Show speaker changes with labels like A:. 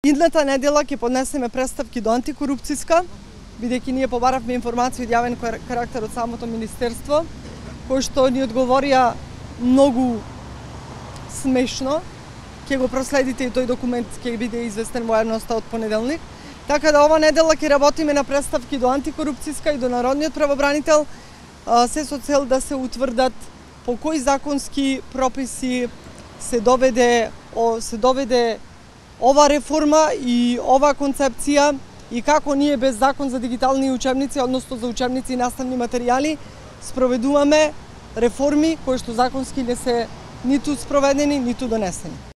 A: Идната недела ќе поднесеме представки до антикорупцијска, бидејќи ние побаравме информација од јавен карактер од самото министерство, кој што ни одговорија многу смешно. Ќе го проследите и тој документ ќе биде известен во јавноста од понеделник. Така да ова недела ќе работиме на представки до антикорупцијска и до народниот правобранител, се со цел да се утврдат по кои законски прописи се доведе ова реформа и ова концепција и како ние без закон за дигитални учебници, односно за учебници и наставни материјали, спроведуваме реформи кои што законски не се ниту спроведени, ниту донесени.